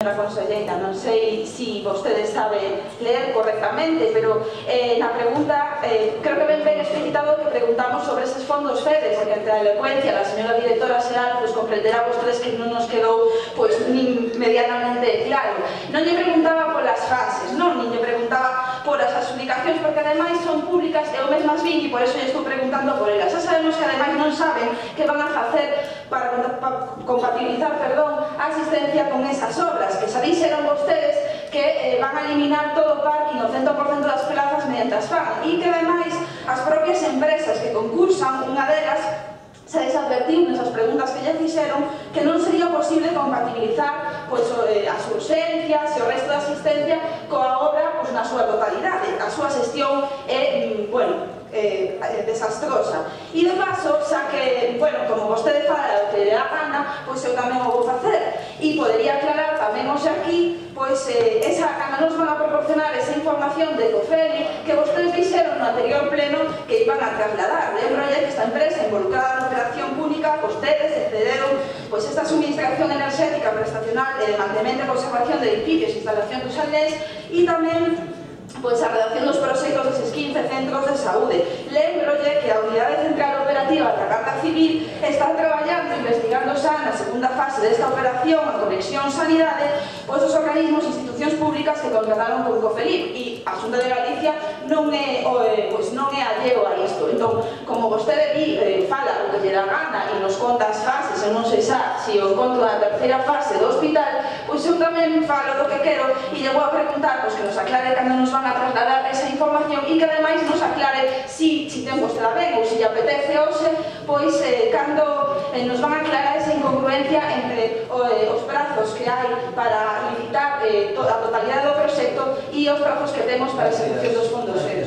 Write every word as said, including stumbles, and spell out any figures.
Señora conselleira, non sei se vostede sabe ler correctamente, pero eh, na pregunta eh, creo que ben ben explicitado que preguntamos sobre eses fondos FEDER, porque entre a elocuencia da señora directora xeral pues, comprenderá vostedes que non nos quedou pues, nin medianamente claro. Non lle preguntaba polas fases, non, nin lle preguntaba por as adjudicacións, porque ademais son públicas e eu mesmas vin e por eso lle estou preguntando por elas. Xa sabemos que ademais non saben que van a facer para, para compatibilizar perdón, a asistencia con esas obras, que xa dixeron vostedes que eh, van a eliminar todo o parking, o cento por cento das plazas mediante as fagan, e que ademais as propias empresas que concursan, unha delas se desadvertiu nesas preguntas que lle fixeron que non sería posible compatibilizar pois, eh, as urxencias e o resto da asistencia coa obra pois, na súa totalidade. A súa xestión é, mm, bueno, eh, desastrosa. E de paso, xa que, bueno, como vostede fala o que lle dá gana, pois eu tamén o vou facer. E podería aclarar tamén hoxe aquí, pois, eh, esa, cando nos van a proporcionar esa información de COFELI que vostedes dixeron no anterior pleno que iban a trasladar. Lembro que esta empresa involucrada na operación pública, vostedes excederon pois, esta suministración enerxética prestacional de mantemento e conservación de edificios e instalación dos xardéns e tamén pois a redacción dos proxectos deses quince centros de saúde. Lembrolle que a Unidade Central Operativa da Garda Civil está traballando e investigando xa na segunda fase desta operación a conexión sanidade pois os organismos e institucións públicas que contrataron con COFELIP e a Xunta de Galicia non é, pois non é alleo a isto. Entón, como vostede di, eh, fala o que lle dá gana e nos conta as fases, eu non sei xa se o encontro da terceira fase do hospital, pois eu tamén falo do que quero e lle vou a preguntar pois, que nos aclare cando nos van a trasladar esa información e que ademais nos aclare si, si ten vostede ben ou se lle apetece hoxe, pois eh, cando eh, nos van a aclarar esa incongruencia entre eh, os prazos que hai para licitar eh, to a totalidade do proxecto e os prazos que temos para a execución dos fondos FEDER.